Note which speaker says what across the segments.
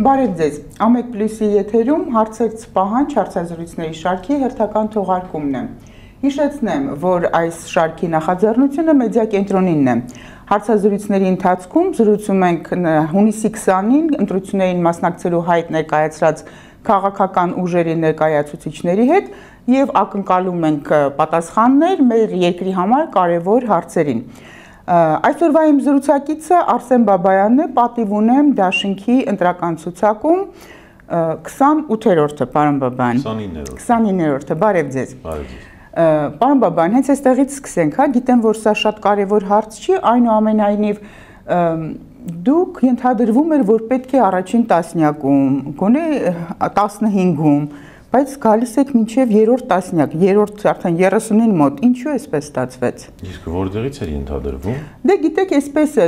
Speaker 1: Բարև ձեզ, Ամեկ Պլյուսի եթերում հարցերց պահանջ հարցազրույցների շարքի հերթական թողարկումն է։ Հիշեցնեմ, որ այս շարքի նախաձեռնությունը մեդիա կենտրոնինն է։ Հարցազրույցների ընթացքում զրուցում ենք հունիսի 20-ին ընտրություններին մասնակցելու հայտ ներկայացրած քաղաքական ուժերի ներկայացուցիչների հետ եւ ակնկալում ենք պատասխաններ մեր երկրի համար կարևոր հարցերին։ Այսօրվա իմ զրուցակիցը Արսեն Բաբայանն է, պատիվ ունեմ Դաշինքի ընտրական ցուցակում 28-րդը, պարոն Բաբայան։ 29-րդը, բարև ձեզ։
Speaker 2: Բարև ձեզ։
Speaker 1: Պարոն Բաբայան, հենց այստեղից սկսենք, հա, գիտեմ, որ սա շատ կարևոր հարց չի, այնուամենայնիվ դուք ենթադրվում էր, որ պետք է առաջին տասնյակում, գոնե 15-ում, բայց գալիս եք մինչև երրորդ տասնյակ, երրորդ արդեն 30-ին մոտ, ինչու էսպես ստացվեց։
Speaker 2: Իսկ որտեղից էր ենթադրվում։
Speaker 1: Դե գիտեք, էսպես է,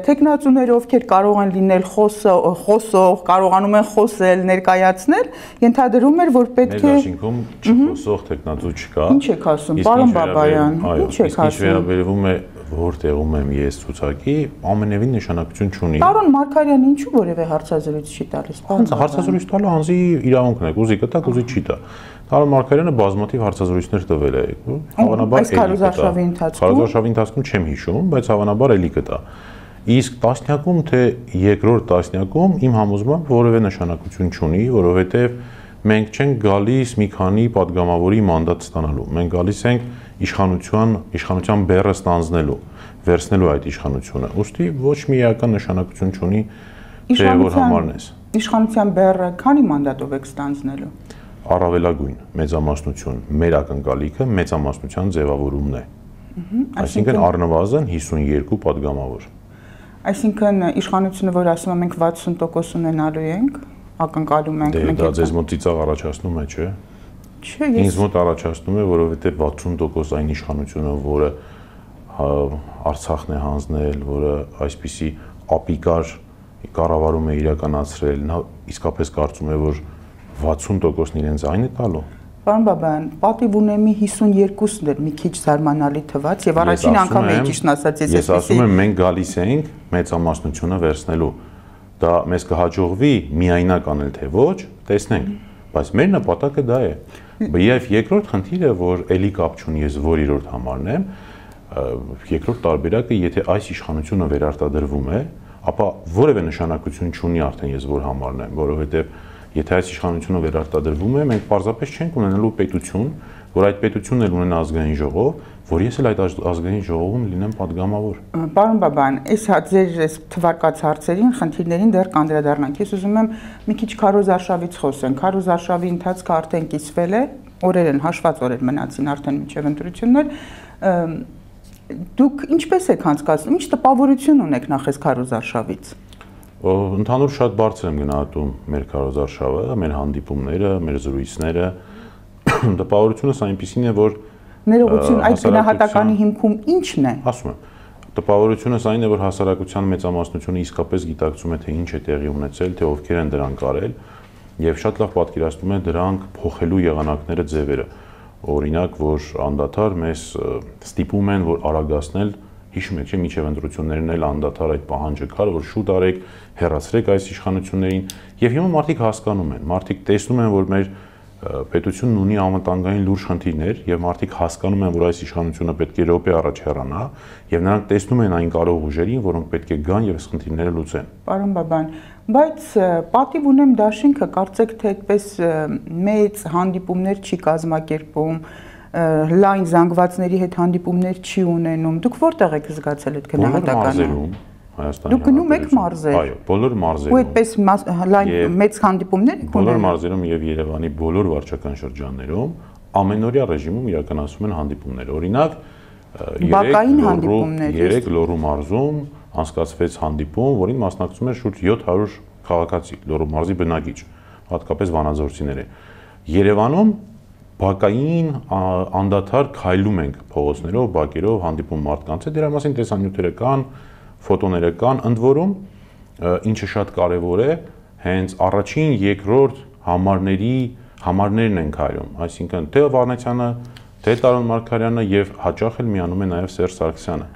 Speaker 1: տեխնացուները ովքեր կարող են լինել խոսող, կարողանում են խոսել, ներկայացնել, ենթադրում էր, որ պետք է։
Speaker 2: Մեր Դաշինքում չխոսող տեխնացու չկա։
Speaker 1: Ինչ եք ասում, պարոն Բաբայան, ինչ եք ասում։
Speaker 2: Ինչ վերաբերվում է որտեղում եմ ես ցուցակի, ամենևին նշանակություն չունի։
Speaker 1: Պարոն Մարգարյանը ինչու որևէ հարցազրույց չի տալիս։
Speaker 2: Հարցազրույց տալը անձի իրավունքն է, ուզի կտա, ուզի չի տա։ Պարոն Մարգարյանը բազմաթիվ հարցազրույցներ տվել է, հավանաբար քարոզարշավի ընթացքում չեմ հիշում, բայց հավանաբար էլի կտա։ Իսկ տասնյակում թե երկրորդ տասնյակում իմ համոզմամբ որևէ նշանակություն չունի, որովհետև մենք չենք գալիս մի քանի падգամավորի մանդատ ստանալու։ Մենք գալիս ենք իշխանության բեռը ստանձնելու, վերցնելու այդ իշխանությունը։ Ուստի ոչ մի էական նշանակություն չունի, թե որ համարն ես։
Speaker 1: Իշխանության բեռը քանի մանդատով եք ստանձնելու։
Speaker 2: Առավելագույն մեծամասնություն, մեր ակնկալիքը մեծամասնության ձևավորումն է։ Այսինքն առնվազն 52 падգամավոր։
Speaker 1: Այսինքն իշխանությունը, որ ասում եմ մենք 60% ունենալու ենք, ակնկալում ենք
Speaker 2: մենք։ Դա ձեզ մոտ ծիծաղ առաջացնում է, չէ՞։
Speaker 1: Չէ,
Speaker 2: ինձ մոտ առաջացնում է, որովհետև 60% այն իշխանությունը, որը Արցախն է հանձնել, որը այսպիսի ապիկար կառավարում է իրականացրել, նա իսկապես կարծում է, որ 60%-ն իրենց այն է տալու։
Speaker 1: Պարոն Բաբայան, պատիվ ունեմի 52-ն էր մի քիչ զարմանալի թվաց եւ առաջին անգամ է ճիշտն ասած
Speaker 2: ես ասում եմ մենք գալիս ենք մեծամասնությունը վերցնելու։ Դա մեզ կհաջողվի միայնակ անել թե ոչ, տեսնենք, բայց մեր նպատակը դա է։ Եվ երկրորդ խնդիրը, որ էլի կապ չունի ես որ երրորդ համարն եմ, երկրորդ տարբերակը, եթե այս իշխանությունը վերարտադրվում է, ապա որևէ նշանակություն չունի արդեն ես որ համարն եմ, որովհետև եթե այս իշխանությունը վերարտադրվում է, մենք պարզապես չենք ունենալու պետություն, որ այդ պետությունն էլ ունենա ազգային ժողով, որ ես էլ այդ ազգային ժողովում լինեմ падգամավոր։
Speaker 1: Պարոն Բաբայան, ձեր թվարկած հարցերին, խնդիրներին դեռ կանդրադառնանք։ Ես ուզում եմ մի քիչ քարոզարշավից խոսենք։ Քարոզարշավի ընթացքը արդեն կիսվել է, օրեր են, հաշված օրեր մնացին արդեն մինչև ընտրություններ։ Դուք ինչպես եք անցկացնում, ինչ տպավորություն ունեք նախ այս քարոզարշավից։
Speaker 2: Ընդհանուր շատ բարձր եմ գնահատում մեր քարոզարշավը, մեր հանդիպումները, մեր զրույցները։ Տպավորությունս այնպիսին է, որ
Speaker 1: ներողություն, այդ գնահատականի հիմքում ի՞նչն է։
Speaker 2: Ասում եմ, տպավորությունս այն է, որ հասարակության մեծամասնությունը իսկապես գիտակցում է, թե ինչ է տեղի ունեցել, թե ովքեր են դրանք արել, եւ շատ լավ պատկերացնում է դրանք փոխելու եղանակները, ձևերը։ Օրինակ, որ անդադար մեզ ստիպում են, որ արագացնել, հիշում եք, չէ՞, միջև ընտրություններն էլ անդադար այդ պահանջը կար, որ շուտ արեք, հեռացրեք այս իշխանություններին, եւ հիմա մարդիկ հասկանում են, մարդիկ տեսնում են, որ մեր պետությունն ունի անվտանգային լուրջ խնդիրներ եւ մարդիկ հասկանում են, որ այս իշխանությունը պետք է րոպե առաջ հեռանա եւ նրանք տեսնում են այն կարող ուժերին, որոնք պետք է գան եւ այս խնդիրները լուծեն։
Speaker 1: Պարոն Բաբայան, բայց պատիվ ունեմ Դաշինքը, կարծեք թե այդպես մեծ հանդիպումներ չի կազմակերպում, լայն զանգվածների հետ հանդիպումներ չի ունենում։ Դուք որտեղ եք զգացել այդ գնահատականը։ Դուք գնում եք մարզեր։
Speaker 2: Այո, բոլոր մարզերում։
Speaker 1: Ու այդպես լայն մեծ հանդիպումներ եք ունենում։
Speaker 2: Բոլոր մարզերում եւ Երևանի բոլոր վարչական շրջաններում ամենօրյա ռեժիմում իրականացվում են հանդիպումներ։ Օրինակ,
Speaker 1: բակային հանդիպումներ։
Speaker 2: 3 Լոռու մարզում անցկացվեց հանդիպում, որին մասնակցում էր շուրջ 700 քաղաքացի, Լոռու մարզի բնակիչ, հատկապես վանաձորցիներ։ Երևանում բակային անդադար քայլում ենք փողոցներով, բակերով, հանդիպում մարդկանց հետ, դրա մասին տեսանյութերը կան, ֆոտոները կան, ընդ որում ինչը շատ կարևոր է, հենց առաջին, երկրորդ համարներն են քայլում, այսինքն թե Վանեցյանը, թե Տարոն Մարգարյանը եւ հաճախ էլ միանում է նաեւ Սերժ Սարգսյանը։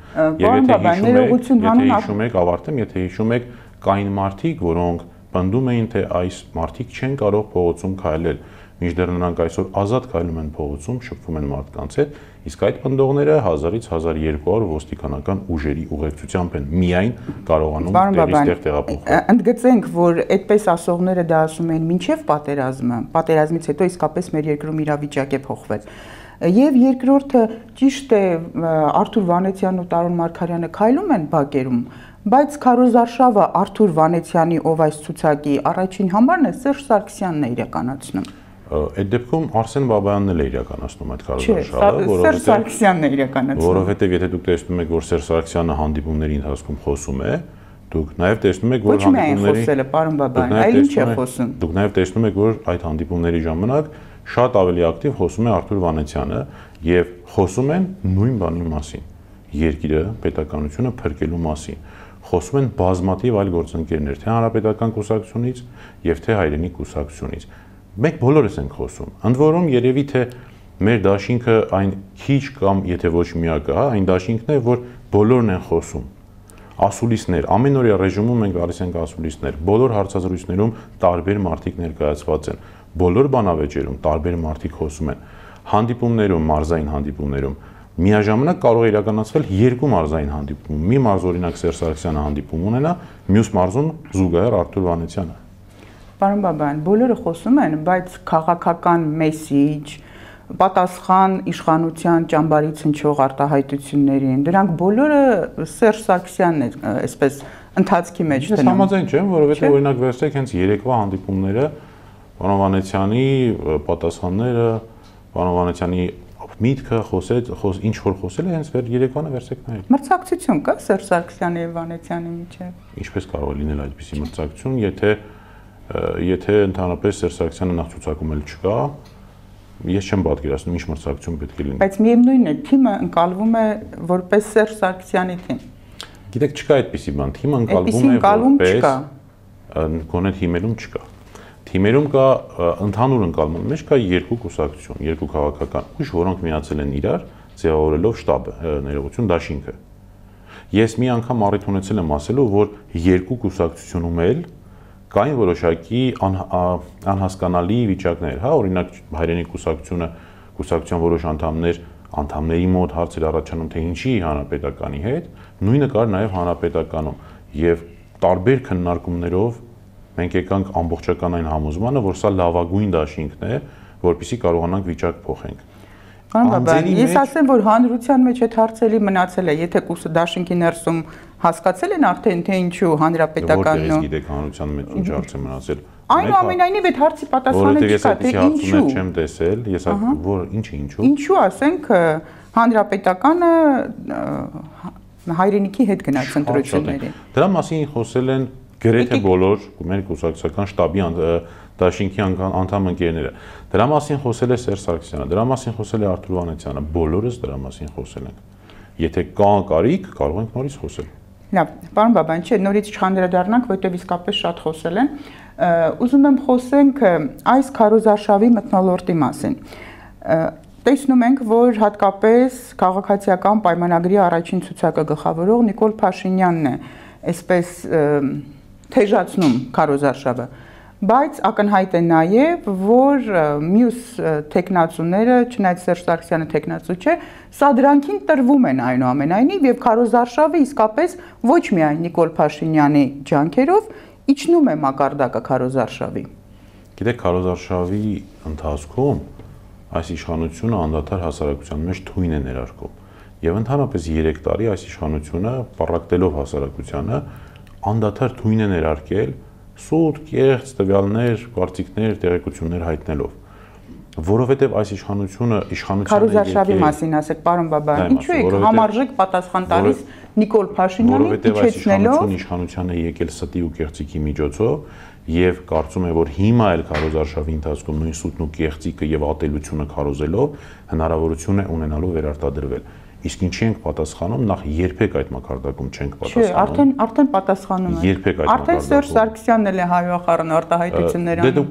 Speaker 2: Եվ եթե հիշում եք, ավարտեմ, եթե հիշում եք, կային մարդիկ, որոնք պնդում էին, թե այս մարդիկ չեն կարող փողոցում քայլել, մինչդեռ նրանք այսօր ազատ քայլում են փողոցում, շփվում են մարդկանց հետ, իսկ այդ պնդողները 1000-ից 1200 ոստիկանական ուժերի ուղեկցությամբ են միայն կարողանում տեղից տեղափոխվել։
Speaker 1: Ընդգծենք, որ այդպես ասողները դա ասում են մինչև պատերազմը, պատերազմից հետո իսկապես մեր երկրում իրավիճակ է փոխվել։ Եվ երկրորդը ճիշտ է, Արթուր Վանեցյանն ու Տարոն Մարգարյանը քայլում են բակերում, բայց քարոզարշավը Արթուր Վանեցյանի, ով այս ցուցակի առաջին համարն է, Սերժ Սարգսյանն է իրականացնում։
Speaker 2: Այդ դեպքում Արսեն Բաբայանն էլ է իրականացնում այդ քարոզարշավը,
Speaker 1: Սերժ Սարգսյանն է իրականացնում։
Speaker 2: Որովհետև եթե դուք տեսնում եք, որ Սերժ Սարգսյանը հանդիպումների ընթացքում խոսում է, դուք նաև տեսնում եք, որ
Speaker 1: հանդիպումների խոսել է, պարոն Բաբայան, այլ ինչ է խոսում։
Speaker 2: Դուք նաև տեսնում եք, որ այդ հանդիպումների ժամանակ շատ ավելի ակտիվ խոսում է Արթուր Վանեցյանը եւ խոսում են նույն բանի մասին՝ երկիրը, պետականությունը փրկելու մասին։ Խոսում են բազմաթիվ այլ գործընկերներ, թե Հանրապետական կուսակցությունից եւ թե Հայրենիք կուսակցությունից։ Մենք բոլորս ենք խոսում։ Ընդ որում երևի թե մեր դաշինքը այն քիչ կամ եթե ոչ միակը, հա, այն դաշինքն է, որ բոլորն են խոսում։ Ասուլիսներ, ամենօրյա ռեժիմում մենք գալիս ենք ասուլիսներ, բոլոր հարցազրույցներում տարբեր մարդիկ ներկայացված են, բոլոր բանավեճերում տարբեր մարդիկ խոսում են, հանդիպումներում, մարզային հանդիպումներում միաժամանակ կարող է իրականացվել երկու մարզային հանդիպում։ Մի մարզ օրինակ Սերժ Սարգսյանը հանդիպում ունենա, մյուս մարզում զուգահեռ Արթուր Վանեցյանը։
Speaker 1: Պարոն Բաբայան, բոլորը խոսում են, բայց քաղաքական մեսիջ, պատասխան իշխանության ճամբարից հնչող արտահայտություններին, դրանք բոլորը Սերժ Սարգսյանն է, այսպես ընթացքի մեջ դնում։
Speaker 2: Ես համաձայն չեմ, որովհետև օրինակ վերցրեք հենց երեկվա հանդիպումները, պարոն Վանեցյանի պատասխանները, պարոն Վանեցյանի միտքը ինչ որ խոսել է, հենց երեկվանը վերցրեք նայեք։
Speaker 1: Մրցակցություն կա Սերժ Սարգսյանի եւ Վանեցյանի միջեւ։
Speaker 2: Ինչպես կարող է լինել այդպիսի մրցակցություն, եթե ընդհանրապես Սերժ Սարգսյանը նախ ցուցակում էլ չկա, ես չեմ պատկերացնում ինչ մրցակցություն պետք է լինի։
Speaker 1: Բայց միևնույնն է, թիմը ընկալվում է որպես Սերժ Սարգսյանի թիմ։
Speaker 2: Գիտեք, չկա այդպիսի բան, թիմը ընկալվում է որպես գոնե թիմերում չկա։ Թիմերում կա ընդհանուր ընկալման մեջ կա երկու կուսակցություն, երկու քաղաքական ուժ, որոնք միացել են իրար, ձևավորելով շտաբը, ներողություն, դաշինքը։ Ես մի անգամ առիթ ունեցել եմ ասելու, որ երկու կուսակցությունում էլ կային որոշակի անհասկանալի վիճակներ, հա, օրինակ Հայրենիք կուսակցության որոշ անդամների մոտ հարցեր առաջանում, թե ինչի Հանրապետականի հետ, նույնը կար նաև Հանրապետականում եւ տարբեր քննարկումներով մենք եկանք ամբողջական այն համոզմանը, որ սա լավագույն դաշինքն է, որպեսզի կարողանանք վիճակ փոխենք։
Speaker 1: Ես ասեմ, որ հանրության մեջ այդ հարցերի մնացել է, եթե դաշինքի ներսում հասկացել են արդեն, թե ինչու Հանրապետականն
Speaker 2: ու գիտեք հանրության մեջ ինչ հարց է մնացել։
Speaker 1: Այնուամենայնիվ այդ հարցի պատասխանը չկա, թե ինչու։
Speaker 2: Չեմ տեսել, ես որ ինչը ինչու։
Speaker 1: Ինչու ասենք Հանրապետականը Հայրենիքի հետ գնաց ընտրություններին։
Speaker 2: Դրա մասին խոսել են գրեթե բոլոր մեր կուսակցական շտաբի դաշինքի անդամ ընկերները։ Դրա մասին խոսել է Սերժ Սարգսյանը, դրա մասին խոսել է Արթուր Վանեցյանը, բոլորս դրա մասին խոսել ենք։ Եթե կա կարիք, կարող ենք նորից խոսել։
Speaker 1: Լավ, պարոն Բաբայան, չէ, նորից չխանդրադառնանք, որովհետև իսկապես շատ խոսել են։ Ուզում եմ խոսենք այս քարոզարշավի մթնոլորտի մասին։ Տեսնում ենք, որ հատկապես քաղաքացիական պայմանագրի առաջին ցուցակը գլխավորող Նիկոլ Փաշինյանն է այսպես թեժացնում քարոզարշավը, բայց ակնհայտ է նաև, որ մյուս տեխնացուները, չնայած Սերժ Սարգսյանը տեխնացու չէ, սադրանքին տրվում են այնուամենայնիվ եւ քարոզարշավը իսկապես ոչ միայն Նիկոլ Փաշինյանի ջանքերով իջնում է մակարդակը քարոզարշավի։
Speaker 2: Գիտեք, քարոզարշավի ընթացքում այս իշխանությունը անդադար հասարակության մեջ թույն է ներարկում եւ ընդհանրապես 3 տարի այս իշխանությունը պառակտելով հասարակությանը անդադար թույն է ներարկել սուտ, կեղծ տվյալներ, կարծիքներ, տեղեկություններ հայտնելով, որովհետև այս իշխանությունը
Speaker 1: քարոզարշավի մասին ասեք, պարոն Բաբայան, ինչու եք համարժեք պատասխան տալիս Նիկոլ Փաշինյանին իջեցնելով
Speaker 2: իշխանությանը եկել ստի ու կեղծիքի միջոցով եւ կարծում եմ, որ հիմա էլ քարոզարշավի ընթացքում նույն սուտն ու կեղծիկը եւ ատելությունը քարոզելով հնարավորություն է ունենալու վերարտադրվել։ Իսկ ինչի ենք պատասխանում, նախ երբեք այդ մակարդակում չենք պատասխանում։
Speaker 1: Չէ, արդեն պատասխանում ենք։
Speaker 2: Երբեք այդ մակարդակում։
Speaker 1: Արդեն Սերժ Սարգսյանն էլ է հայոխառն արտահայտություններ անում։
Speaker 2: Դուք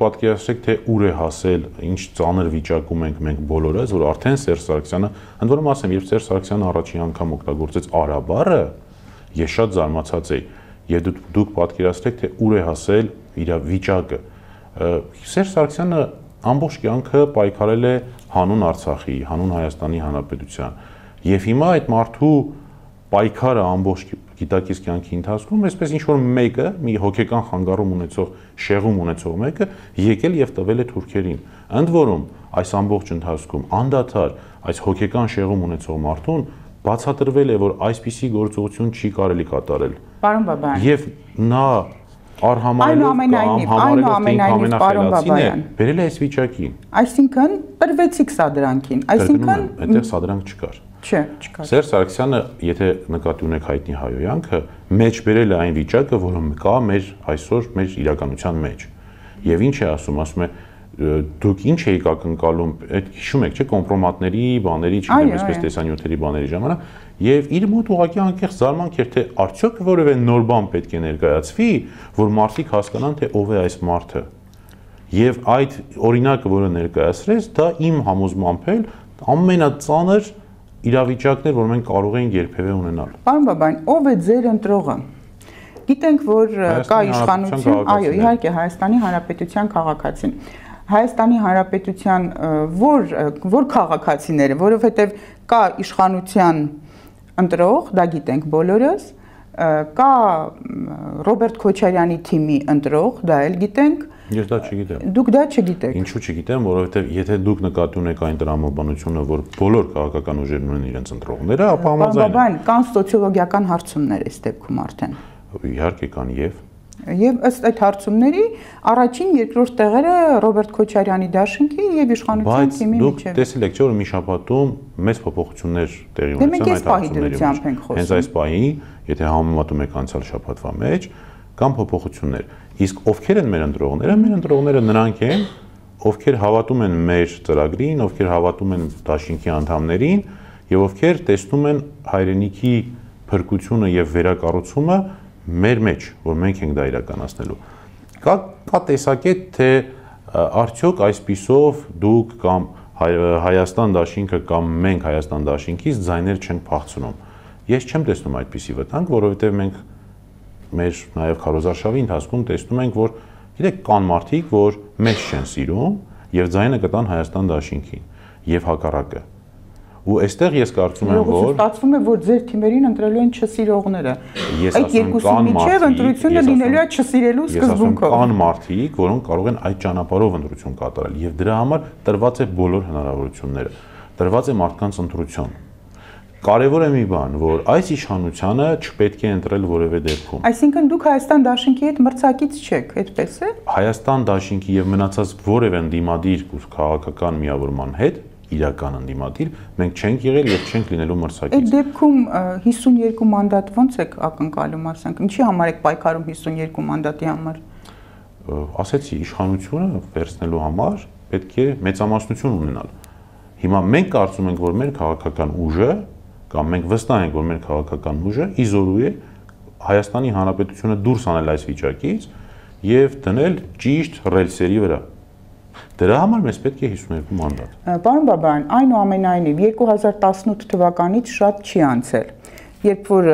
Speaker 2: պատկերացրեք, թե ուր է հասել, ինչ ծանր վիճակում ենք մենք բոլորս, որ արդեն Սերժ Սարգսյանը, ընդ որում ասեմ, երբ Սերժ Սարգսյանը առաջին անգամ օգտագործեց արաբառը, ես շատ զարմացած էի։ եւ դուք պատկերացրեք, թե ուր է հասել իր վիճակը։ Սերժ Սարգսյանը ամբողջ կյանքը պայքարել է հանուն Արցախի, հանուն Հայաստանի Հանրապետության։ Եվ հիմա այդ մարդու պայքարը ամբողջ գիտակից կյանքի ընթացքում այսպես ինչ որ մեկը, մի հոգեկան խանգարում ունեցող, շեղում ունեցող մեկը եկել եւ տվել է թուրքերին։ Ընդ որում, այս ամբողջ ընթացքում անդադար այս հոգեկան շեղում ունեցող մարդուն բացատրվել է, որ այսպիսի գործողություն չի կարելի կատարել։
Speaker 1: Պարոն Բաբայան։
Speaker 2: Եվ նա արհամարելով կամ համարելով թե ամենախելացին է, բերել է այս վիճակին։
Speaker 1: Այսինքն տրվեցիք սադրանքին, այսինքն
Speaker 2: այդտեղ սադրանք չկար։
Speaker 1: Չէ, չկար։
Speaker 2: Սերժ Սարգսյանը, եթե նկատի ունեք հայտնի հայոյանքը, մեջ բերել է այն վիճակը, որը կա մեր այսօր մեր իրականության մեջ։ Եվ ինչ է ասում է դուք ինչ էիք ակնկալում, այդ հիշում եք, չէ՞, կոմպրոմատների, բաների, չգիտեմ, այսպես տեսանյութերի բաների ժամանակ, եւ իր մոտ ուղղակի անկեղծ զարմանք էր, թե արդյոք որևէ նոր բան պետք է ներկայացվի, որ մարդիկ հասկանան, թե ով է այս մարդը։ Եվ այդ օրինակը, որը ներկայացրեց, դա իմ համոզմամբ էլ ամենածանր իրավիճակներ, որ մենք կարող ենք երբևէ ունենալ։
Speaker 1: Պարոն Բաբայան, ով է ձեր ընտրողը։ Գիտենք, որ կա իշխանություն, այո, իհարկե Հայաստանի Հանրապետության քաղաքացին։ Հայաստանի Հանրապետության որ քաղաքացիները, որովհետև կա իշխանության ընտրող, դա գիտենք բոլորս, կա Ռոբերտ Քոչարյանի թիմի ընտրող, դա էլ գիտենք։
Speaker 2: Ես դա չգիտեմ։
Speaker 1: Դուք դա չգիտեք։
Speaker 2: Ինչու չգիտեմ, որովհետև եթե դուք նկատի ունեք այն տրամաբանությունը, որ բոլոր քաղաքական ուժերն ունեն իրենց ընտրողները, ապա համաձայն եմ։
Speaker 1: Կան սոցիոլոգիական հարցումներ այս դեպքում արդեն։
Speaker 2: Իհարկե կան
Speaker 1: Եվ ըստ այդ հարցումների առաջին, երկրորդ տեղերը Ռոբերտ Քոչարյանի դաշինքի եւ իշխանության թիմի միջեւ։
Speaker 2: Բայց դուք տեսել եք, չէ՞ որ մի շաբաթում մեծ փոփոխություններ տեղի ունեցան այդ հարցումների մեջ։ Հենց այս պահի, եթե համեմատում եք անցյալ շաբաթվա մեջ, կան փոփոխություններ։ Իսկ ովքեր են մեր ընտրողները? Մեր ընտրողները նրանք են, ովքեր հավատում են մեր ծրագրին, ովքեր հավատում են դաշինքի անդամներին եւ ովքեր տեսնում են հայրենիքի փրկությունը եւ վերակառուցումը մեր մեջ, որ մենք ենք դա իրականացնելու։ Կա տեսակետ, թե արդյոք այսպիսով դուք կամ Հայաստան դաշինքը կամ մենք Հայաստան դաշինքից ձայներ չենք փախցնում։ Ես չեմ տեսնում այդպիսի վտանգ, որովհետև մենք մեր նաև քարոզարշավի ընթացքում տեսնում ենք, որ գիտեք, կան մարդիկ, որ մեզ չեն սիրում եւ ձայնը կտան Հայաստան դաշինքին եւ հակառակը։ Ու այստեղ ես կարծում եմ, որ
Speaker 1: ստացվում է, որ ձեր թիմերին ընտրելու են չսիրողները։ Այդ երկուսի միջև ընտրությունը լինելու է չսիրելու սկզբունքով։
Speaker 2: Կան մարդիկ, որոնք կարող են այդ ճանապարհով ընտրություն կատարել եւ դրա համար տրված է բոլոր հնարավորությունները։ Տրված է մարդկանց ընտրություն։ Կարևոր է մի բան, որ այս իշխանությունը չպետք է ընտրել որևէ դեպքում։
Speaker 1: Այսինքն դուք Հայաստան դաշինքի հետ մրցակից չեք, այդպես է։
Speaker 2: Հայաստան դաշինքի եւ մնացած որևէ ընդդիմադիր քաղաքական միավորման հետ իրական ընդդիմադիր մենք չենք եղել եւ չենք լինելու մրցակից։
Speaker 1: Այդ դեպքում 52 մանդատ ո՞նց եք ակնկալում, ասենք, ինչի համար եք պայքարում 52 մանդատի համար։
Speaker 2: Ասեցի, իշխանությունը վերցնելու համար պետք է մեծամասնություն ունենալ։ Հիմա մենք կարծում ենք, որ մեր քաղաքական ուժը կամ մենք վստահ ենք, որ մեր քաղաքական ուժը իզորու է Հայաստանի Հանրապետությունը դուրս անել այս վիճակից եւ դնել ճիշտ ռելսերի վրա։ Դրա համար մեզ պետք է 52 մանդատ։
Speaker 1: Պարոն Բաբայան, այնուամենայնիվ 2018 թվականից շատ չի անցել, երբ որ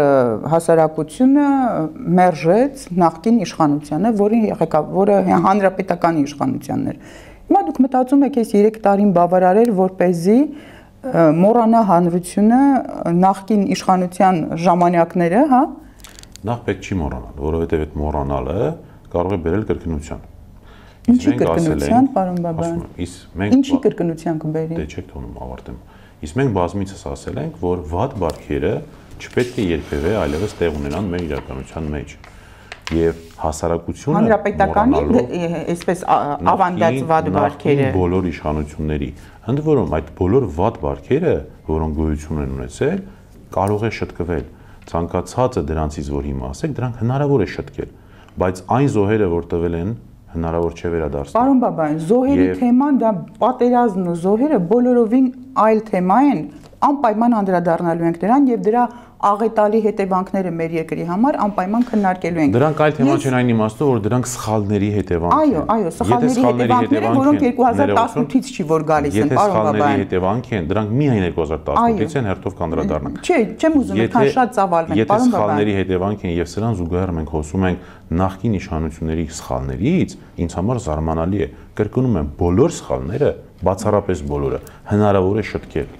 Speaker 1: հասարակությունը մերժեց նախկին իշխանությանը, որը հանրապետական իշխանությանն էր։ Հիմա դուք մտածում եք այս 3 տարին բավարարել, որպեսզի մոռանա հանրությունը նախկին իշխանության ժամանակները, հա։
Speaker 2: Նախ պետք չի մոռանալ, որովհետև այդ մոռանալը կարող է բերել կրկնության։
Speaker 1: Ինչի կրկնության, պարոն Բաբայան։ Ինչի կրկնության կբերի։
Speaker 2: Դե չեք թողնում ավարտեմ։ Իսկ մենք բազմիցս ասել ենք, որ վատ բարքերը չպետք է երբևէ այլևս տեղ ունենան մեր իրականության մեջ։ Եվ հասարակությունը
Speaker 1: հանրապետականի այսպես ավանդած վատ բարքերը
Speaker 2: բոլոր իշխանությունների, ընդ որում այդ բոլոր վատ բարքերը, որոնք գոյություն են ունեցել, կարող է շտկվել։ Ցանկացածը դրանցից որ հիմա ասեք, դրանք հնարավոր է շտկել, բայց այն զոհերը, որ տվել են, հնարավոր չէ վերադարձնել։
Speaker 1: Պարոն Բաբայան, զոհերի թեման դա պատերազմն ու զոհերը բոլորովին այլ թեմա են, անպայման անդրադառնալու ենք դրան եւ դրա աղետալի հետևանքները մեր երկրի համար անպայման քննարկելու ենք։
Speaker 2: Դրանք այլ թեմա չեն այն իմաստով, որ դրանք սխալների հետևանք են։
Speaker 1: Այո, սխալների հետևանքները, որոնք 2018-ից չի որ գալիս են, պարոն Բաբայան։
Speaker 2: Եթե սխալների հետևանք են, դրանք միայն 2018-ից են, հերթով կանդրադառնանք։
Speaker 1: Չէ, չեմ ուզում այդքան շատ ծավալվենք,
Speaker 2: Եթե սխալների հետևանք են եւ սրան զուգահեռ մենք խոսում ենք նախկին իշխանությունների սխալներից, ինձ համար զարմանալի է։ Կրկնում եմ, բոլոր սխալները, բացառապես բոլորը, հնարավոր է շտկել։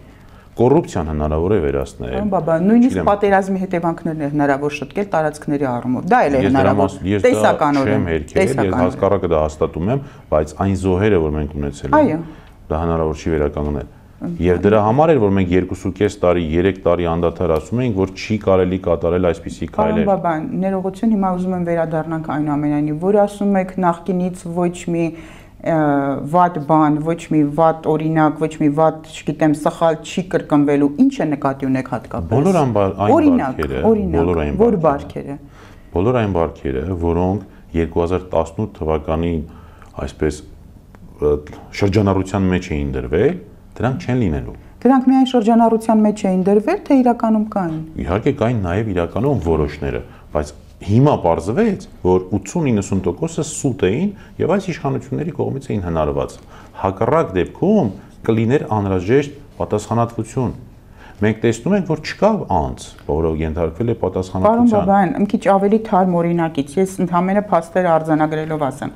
Speaker 2: Կոռուպցիան հնարավոր է վերացնել։
Speaker 1: Պարոն Բաբայան, նույնիսկ պատերազմի հետևանքներն է հնարավոր շտկել տարածքների առումով։ Դա էլ է հնարավոր տեսականորեն։
Speaker 2: Ես հազկարակը դա հաստատում եմ, բայց այն զոհերը, որ մենք ունեցել ենք, դա հնարավոր չի վերականգնել։ Եվ դրա համար էր, որ մենք 2.5 տարի, 3 տարի անդադար ասում էինք, որ չի կարելի կատարել այսպիսի քայլեր։
Speaker 1: Պարոն Բաբայան, ներողություն, հիմա ուզում եմ վերադառնանք այնուամենայնիվ, որ ասում եք նախկինից ոչ մի վատ բան, ոչ մի վատ օրինակ, ոչ մի վատ, չգիտեմ, սխալ չի կրկնվելու, ինչ է նկատի ունեք հատկապես։
Speaker 2: Բոլոր այն բարքերը, որոնք 2018 թվականին այսպես շրջանառության մեջ էին դրվել, դրանք չեն լինելու։
Speaker 1: Դրանք միայն շրջանառության մեջ էին դրվել, թե իրականում կային։
Speaker 2: Իհարկե կային նաև իրականում որոշները, բայց հիմա պարզվեց, որ 80-90%-ը սուտ էին եւ այս իշխանությունների կողմից էին հնարված։ Հակառակ դեպքում կլիներ անհրաժեշտ պատասխանատվություն։ Մենք տեսնում ենք, որ չկա անձ, որը ենթարկվել է պատասխանատվության։
Speaker 1: Պարոն Բաբայան, մի քիչ ավելի թարմ օրինակից, ես ընդհանրապես փաստերը արձանագրելով ասեմ։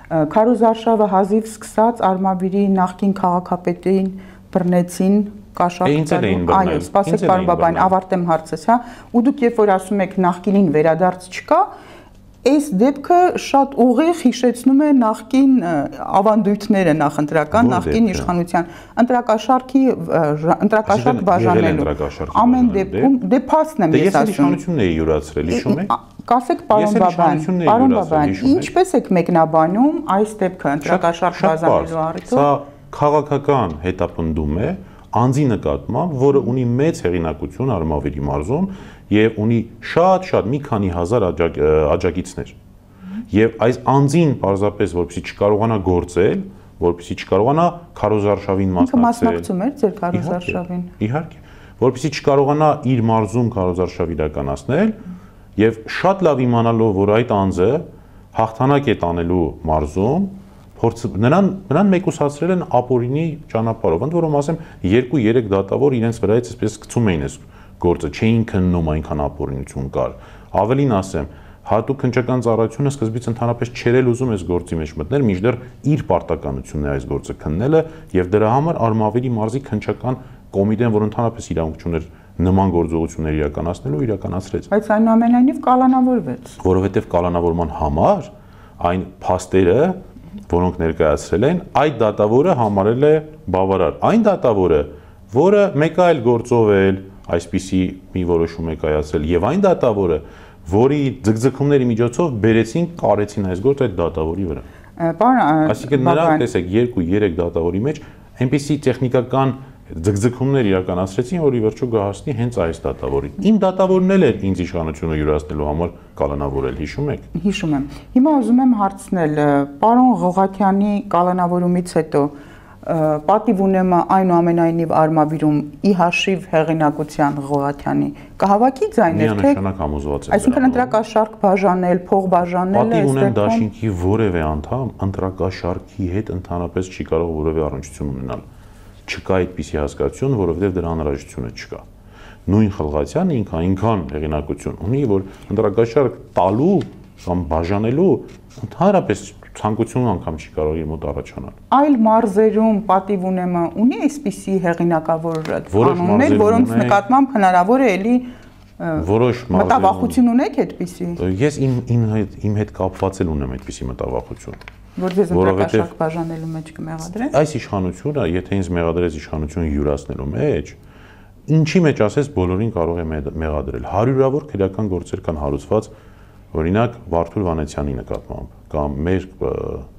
Speaker 1: Քարոզարշավը հազիվ սկսած Արմավիրի նախկին քաղաքապետին բռնեցին կաշառքային։ Այո, սպասեք պարոն Բաբայան, ավարտեմ հարցս, հա։ Ու դուք երբ որ ասում եք նախկինին վերադարձ չկա, այս դեպքը շատ ուղիղ հիշեցնում է նախկին ավանդույթները նախընտրական, նախկին իշխանության ընտրակաշառք բաժանելու։ Ամեն դեպքում դե փաստն եմ ես ասում։
Speaker 2: Ես իշխանությունն էի յուրացրել, հիշում եք։
Speaker 1: Կասեք պարոն Բաբայան, ինչպես եք մեկնաբանում այս դեպքը ընտրակաշառք բաժանելու առիթով։
Speaker 2: Սա քաղաքական հետապնդում է անձի նկատմամբ, որը ունի մեծ հեղինակություն Արմավիրի մարզում եւ ունի շատ մի քանի հազար աջակիցներ։ Եվ այս անձին պարզապես որպեսզի չկարողանա գործել, որպեսզի չկարողանա քարոզարշավին
Speaker 1: մասնակցել։ Ինքը մասնակցում էր ձեր քարոզարշավին։
Speaker 2: Իհարկե, որպեսզի չկարողանա իր մարզում քարոզարշավ իրականացնել եւ շատ լավ իմանալով, որ այդ անձը հաղթանակ է տանելու մարզում, նրան մեկուսացրել են ապօրինի ճանապարհով, ընդ որում ասեմ 2-3 դատավոր իրենց վրայից այսպես գցում էին այս գործը, չէին քննում այնքան ապօրինություն կար։ Ավելին ասեմ, հատուկ քննչական ծառայությունը սկզբից ընդհանրապես չէր ուզում այս գործի մեջ մտնել, մինչդեռ իր պարտականությունն է այս գործը քննելը եւ դրա համար Արմավիրի մարզի քննչական կոմիտեն, որ ընդհանրապես իրավունք ուներ նման գործողություններ իրականացնելու, իրականացրեց։
Speaker 1: Բայց այնուամենայնիվ կալանավորվեց։
Speaker 2: Որովհետեւ կալանավորման համար այն փաստերը, որոնք ներկայացրել են, այդ դատավորը համարել է բավարար։ Այն դատավորը, որը մեկ այլ գործով էլ այսպիսի մի որոշում է կայացրել, եւ այն դատավորը, որի ձգձգումների միջոցով բերեցին, կարեցին այս գործը այդ դատավորի վրա։ Այսինքն նրանք տեսեք 2-3 դատավորի մեջ այնպիսի տեխնիկական ձգձգումներ իրականացրեցին, որ ի վերջո գահացնի հենց այս դատավորին։ Իմ դատավորն էլ էր ինձ իշխանությունը յուրացնելու համար կալանավորել, հիշում եք։
Speaker 1: Հիշում եմ։ Հիմա ուզում եմ հարցնել, պարոն Ղողաթյանի կալանավորումից հետո պատիվ ունեմ այնուամենայնիվ Արմավիրում ի հաշիվ հեղինակության Ղողաթյանի կհավաքի ձայներ, թե
Speaker 2: միանշանակ համոզված եմ։
Speaker 1: Այսինքն ընտրակաշառք բաժանել, փող բաժանել,
Speaker 2: պատիվ ունեմ դաշինքի որևէ անդամ ընտրակաշառքի հետ ընդհանրապես չի կարող որևէ առնչություն ունենալ։ Չկա այդպիսի հասկացություն, որովհետև դրա անհրաժեշտությունը չկա։ Նույն Խլղացյանը ինքան հեղինակություն ունի, որ ընտրակաշառք տալու կամ բաժանելու ընդհանրապես ցանկություն անգամ չի կարող իր մոտ առաջանալ։
Speaker 1: Այլ մարզերում պատիվ ունեմը ունի այսպիսի հեղինակավոր կանոններ, որոնց նկատմամբ հնարավոր է էլի
Speaker 2: որոշ
Speaker 1: մտավախություն ունեք այդպիսի։
Speaker 2: Ես իմ հետ կապված էլ ունեմ այդպիսի մտավախություն։
Speaker 1: Որ ձեզ ընտրակաշառք բաժանելու մեջ կմեղադրեն։
Speaker 2: Այս իշխանությունը, եթե ինձ մեղադրեց իշխանություն յուրացնելու մեջ, ինչի մեջ ասես բոլորին կարող է մեղադրել։ Հարյուրավոր քրեական գործեր կան հարուցված, օրինակ Վարդուր Վանեցյանի նկատմամբ կամ մեր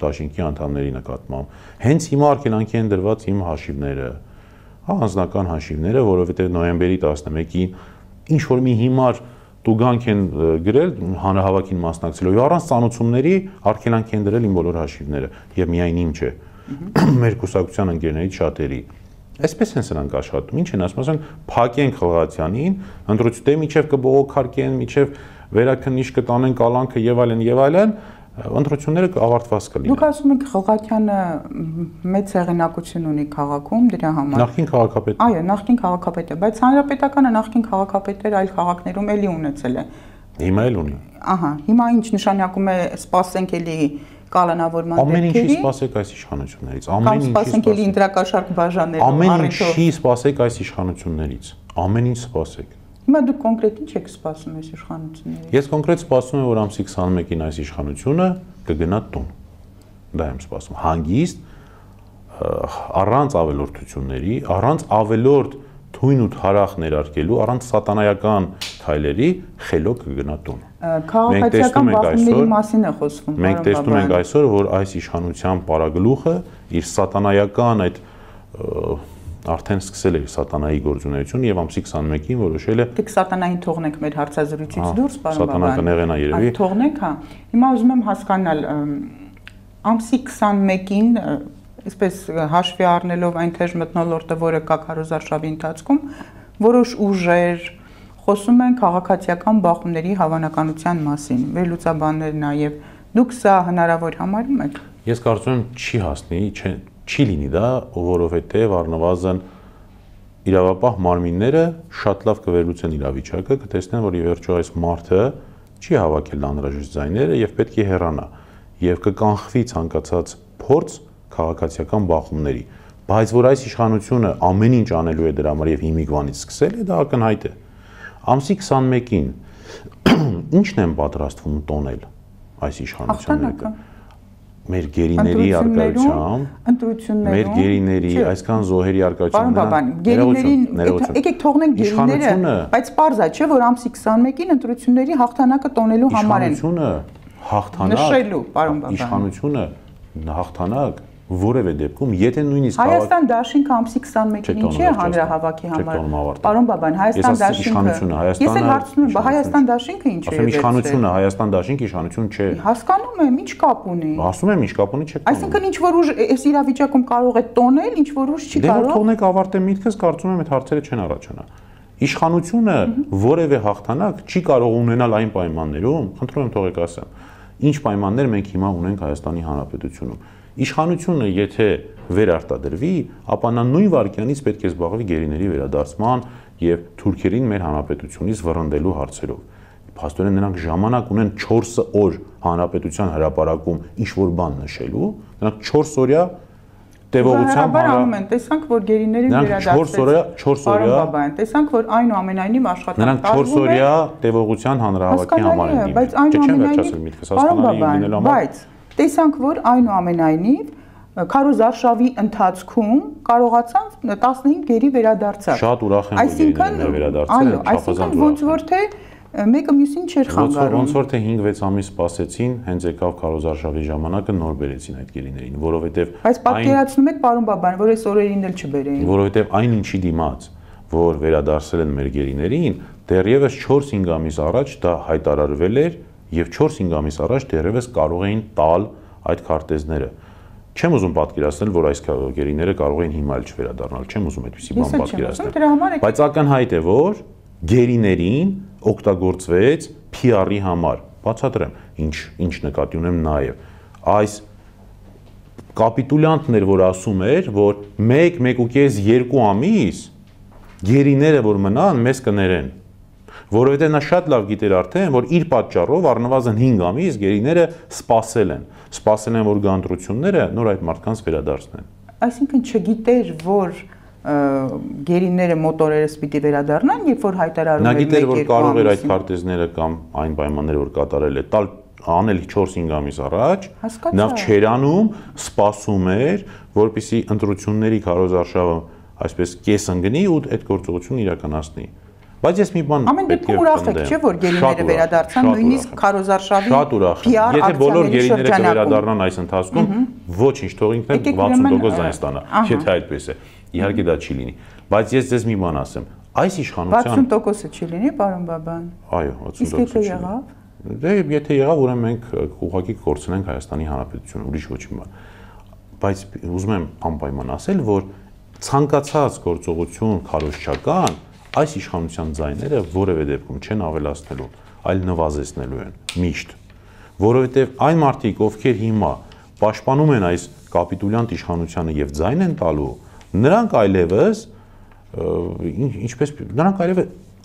Speaker 2: դաշինքի անդամների նկատմամբ։ Հենց հիմա արգելանքի են դրված իմ հաշիվները, անձնական հաշիվները, որովհետև նոյեմբերի 11-ին ինչ որ մի հիմար տուգանք են գրել հանրահավաքին մասնակցելով եւ առանց ծանոթությունների արգելանք են դրել իմ բոլոր հաշիվները եւ միայն իմ չէ։ Մեր կուսակցության ընկերներից շատերի։ Այսպես են սրանք աշխատում։ Ինչ են ասում, ասեն փակենք Խլղատյանին, ընտրություն միջև կբողոքարկեն, միջև վերաքննիչ կտանեն կալանքը եւ այլն, ընտրությունները ավարտված կլինեն։
Speaker 1: Դուք ասում եք Խլղատյանը մեծ հեղինակություն ունի քաղաքում դրա համար։
Speaker 2: Նախկին քաղաքապետ։
Speaker 1: Այո, նախկին քաղաքապետ է, բայց հանրապետականը նախկին քաղաքապետեր այլ քաղաքներում էլի ունեցել է։
Speaker 2: Հիմա էլ ունի։
Speaker 1: Ահա, հիմա ինչ նշանակում է սպասենք էլի կալանավորման
Speaker 2: դեպքերի։ Ամեն ինչի սպասեք այս իշխանություններից։
Speaker 1: Ամեն ինչի սպասենք էլի ընտրակաշարք բաժանելու։
Speaker 2: Ամեն ինչի սպասեք այս իշխանություններից։ Ամեն ինչ սպասեք։
Speaker 1: Հիմա դուք կոնկրետ ինչ եք սպասում այս իշխանություններից։
Speaker 2: Ես կոնկրետ սպասում եմ, որ ամսի 21-ին այս իշխանությունը կգնա տուն։ Դա եմ սպասում։ Հանգիստ, առանց ավելորդությունների, առանց ավելորդ թույն ու թարախ ներարկելու, առանց սատանայական քայլերի խելոք կգնա տուն։
Speaker 1: Քաղաքացիական բախումների մասին է խոսվում։
Speaker 2: Մենք տեսնում ենք այսօր, որ այս իշխանության պարագլուխը իր սատանայական այդ արդեն սկսել է սատանայի գործունեությունը եւ ամսի 21-ին որոշել է
Speaker 1: դուք սատանային թողնենք մեր հարցազրույցից դուրս, պարոն Բաբան։
Speaker 2: Սատանան կնեղենա երևի։
Speaker 1: Թողնենք, հա։ Հիմա ուզում եմ հասկանալ ամսի 21-ին, այսպես հաշվի առնելով այն թեժ մթնոլորտը, որը կա քարոզարշավի ընթացքում, որոշ ուժեր խոսում են քաղաքացիական բախումների հավանականության մասին։ Վերլուծաբաններ նաեւ դուք սա հնարավոր համարում եք։
Speaker 2: Ես կարծում եմ չի հասնի, չի լինի դա, որովհետև առնվազն իրավապահ մարմինները շատ լավ կվերլուծեն իրավիճակը, կտեսնեն, որ ի վերջո այս մարդը չի հավաքել անհրաժեշտ ձայները եւ պետք է հեռանա եւ կկանխվի ցանկացած փորձ քաղաքացիական բախումների, բայց որ այս իշխանությունը ամեն ինչ անելու է դրա համար եւ հիմիկվանից սկսել է, դա ակնհայտ է։ Ամսի 21-ին ինչն են պատրաստվում տոնել այս իշխանությունները։ Մեր գերիների արկայությամբ, մեր գերիների, այսքան զոհերի արկայությամբ։
Speaker 1: Պարոն Բաբան, գերիներին, եկեք թողնենք գերիները, բայց պարզ է, չէ, որ ամսի 21-ին ընտրությունների հաղթանակը տոնելու համար են։
Speaker 2: Իշխանությունը հաղթանակ,
Speaker 1: նշելու, պարոն Բաբան։
Speaker 2: Իշխանությունը հաղթանակ որևէ դեպքում, եթե նույնիսկ
Speaker 1: Հայաստան դաշինքը ամսի 21-ին ինչի է հանրահավաքի համար։ Պարոն Բաբան, Հայաստան դաշինքը։ Ես էլ հարցնում եմ, Հայաստան դաշինքը ինչ է։
Speaker 2: Ասում իշխանությունը, Հայաստան դաշինքը իշխանություն չէ։
Speaker 1: Հասկանում եմ, ինչ կապ ունի։
Speaker 2: Ասում եմ, ինչ կապ ունի, չէ։
Speaker 1: Այսինքն ինչ որ ուժ այս իրավիճակում կարող է տոնել, ինչ որ ուժ չի կարող։
Speaker 2: Դե որ թողնեք ավարտեմ միտքս, կարծում եմ այդ հարցերը չեն առաջանա։ Իշխանությունը որևէ հաղթանակ չի կարող ունենալ այն պայմաններում, խնդրում եմ թողեք ասեմ, ինչ պայմաններ մենք հիմա ունենք Հայաստանի Հանրապետությունում։ Իշխանությունը եթե վերարտադրվի, ապա նա նույն վայրկյանից պետք է զբաղվի գերիների վերադարձման եւ թուրքերին մեր հանրապետությունից վռնդելու հարցերով։ Փաստորեն նրանք ժամանակ ունեն 4 օր հանրապետության հրապարակում ինչ որ բան նշելու, նրանք 4 օրյա տևողությամբ
Speaker 1: տեսանք, որ գերիներին վերադարձվեց։
Speaker 2: 4 օրյա,
Speaker 1: տեսանք, որ այնուամենայնիվ աշխատանք
Speaker 2: նրանք 4 օրյա տևողության հանրահավաքի համար են դիմել։
Speaker 1: Բայց այնուամենայնիվ, բայց տեսանք, որ այնուամենայնիվ քարոզարշավի ընթացքում կարողացան 15 գերի վերադարձալ։
Speaker 2: Շատ ուրախ եմ, որ գերիներն վերադարձել են,
Speaker 1: այսինքն ոնց որ թե մեկը մյուսին չէր խանգարում։
Speaker 2: Ոնց որ թե 5-6 ամիս սպասեցին, հենց եկավ քարոզարշավի ժամանակը նոր բերեցին այդ գերիներին, որովհետև
Speaker 1: Բայց պատկերացնում եք, պարոն Բաբան, որ այս օրերին էլ չբերեին։
Speaker 2: Որովհետև այն ինչի դիմաց, որ վերադարձել են մեր գերիներին, դեռևս 4-5 ամիս առաջ դա հայտարարվել էր եւ 4-5 ամիս առաջ դեռևս կարող էին տալ այդ քարտեզները։ Չեմ ուզում պատկերացնել, որ այս գերիները կարող էին հիմա էլ չվերադառնալ, չեմ ուզում այդպեսի բան պատկերացնել։ Բայց ակնհայտ է, որ գերիներին օգտագործվեց PR-ի համար։ Բացատրեմ, ինչ նկատի ունեմ նաև։ Այս կապիտուլյանտն էր, որ ասում էր, որ 1-1.5-2 ամիս գերիները որ մնան, մեզ կներեն։ Որովհետև նա շատ լավ գիտեր արդեն, որ իր պատճառով առնվազն 5 ամիս գերիները սպասել են, որ գան ընտրությունները նոր այդ մարդկանց վերադարձնեն։
Speaker 1: Այսինքն չգիտեր, որ գերիները մոտորերս պիտի վերադառնան, երբ որ հայտարարում
Speaker 2: էր 1-2 ամիս։ Նա գիտեր, որ կարող էր այդ քարտեզները կամ այն պայմանները, որ կատարել է, տալ անել 4-5 ամիս առաջ, նա չերանում, սպասում էր, որպեսզի ընտրությունների քարոզարշավը այսպես կես ընկնի ու այդ գործողությունը իրականացնի։ Բայց ես մի բան
Speaker 1: ամեն դեպքում ուրախ եք, չէ՞ որ գերիները վերադարձան, նույնիսկ քարոզարշավի
Speaker 2: շատ ուրախ եմ։ Եթե բոլոր գերիները կվերադառնան այս ընթացքում, ոչինչ, թող ինքն 60% ձայն ստանա, եթե այդպես է։ Իհարկե դա չի լինի, բայց ես ձեզ մի բան ասեմ, այս իշխանության
Speaker 1: 60%-ը չի լինի, պարոն Բաբան։
Speaker 2: Այո, 60%-ը չի լինի։ Դե եթե եղավ, ուրեմն մենք ուղղակի կորցնենք Հայաստանի Հանրապետությունը, ուրիշ ոչ մի բան։ Բայց ուզում եմ անպայման ասել, որ ցանկացած գործողություն քարոզչական այս իշխանության ձայները որևէ դեպքում չեն ավելացնելու, այլ նվազեցնելու են միշտ, որովհետև այն մարդիկ, ովքեր հիմա պաշտպանում են այս կապիտուլյանտ իշխանությանը եւ ձայն են տալու, նրանք այլևս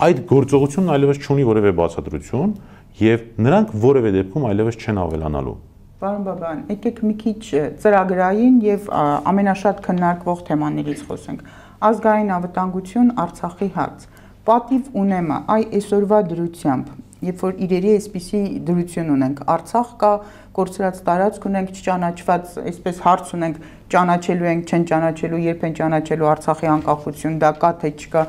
Speaker 2: այդ գործողությունն այլևս չունի որևէ բացատրություն եւ նրանք որևէ դեպքում այլևս չեն ավելանալու։
Speaker 1: Պարոն Բաբայան, եկեք մի քիչ ծրագրային եւ ամենաշատ քննարկվող թեմաներից խոսենք։ Ազգային անվտանգություն, Արցախի հարց։ Պատիվ ունեմը այսօրվա դրությամբ, երբ որ իրերի այսպիսի դրություն ունենք, Արցախ կա, կորցրած տարածք ունենք, չճանաչված, այսպես հարց ունենք, ճանաչելու ենք, չեն ճանաչելու, երբ են ճանաչելու Արցախի անկախություն, դա կա թե չկա։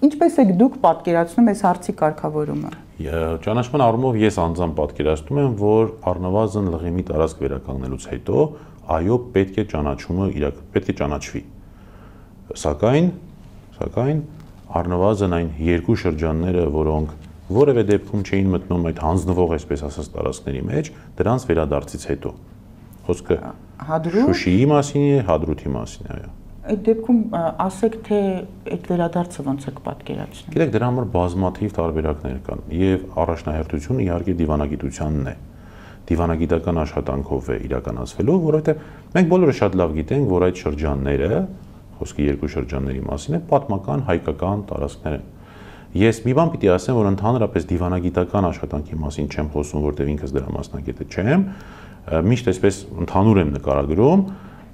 Speaker 1: Ինչպես եք դուք պատկերացնում այս հարցի կարգավորումը։
Speaker 2: Ճանաչման առումով ես անձամբ պատկերացնում եմ, որ առնվազն Լղիմի տարածք վերականգնելուց հետո, այո, պետք է ճանաչումը պետք է ճանաչվի։ Սակայն առնվազն այն երկու շրջանները, որոնք որևէ դեպքում չէին մտնում այդ հանձնվող, այսպես ասած, տարածքների մեջ, դրանց վերադարձից հետո։ Խոսքը Շուշիի մասին է, Հադրութի մասին է, այո։
Speaker 1: Այդ դեպքում ասեք, թե այդ վերադարձը ոնց եք պատկերացնում։
Speaker 2: Գիտեք, դրա համար բազմաթիվ տարբերակներ կան եւ առաջնահերթությունը իհարկե դիվանագիտությանն է։ Դիվանագիտական աշխատանքով է իրականացվելու, որովհետեւ մենք բոլորը շատ լավ գիտենք, որ այդ շրջանները, խոսքի երկու շրջանների մասին է, պատմական հայկական տարածքներ են։ Ես մի բան պիտի ասեմ, որ ընդհանրապես դիվանագիտական աշխատանքի մասին չեմ խոսում, որտեղ ինքս դրա մասնագետը չեմ, միշտ այսպես ընդհանուր եմ նկարագրում,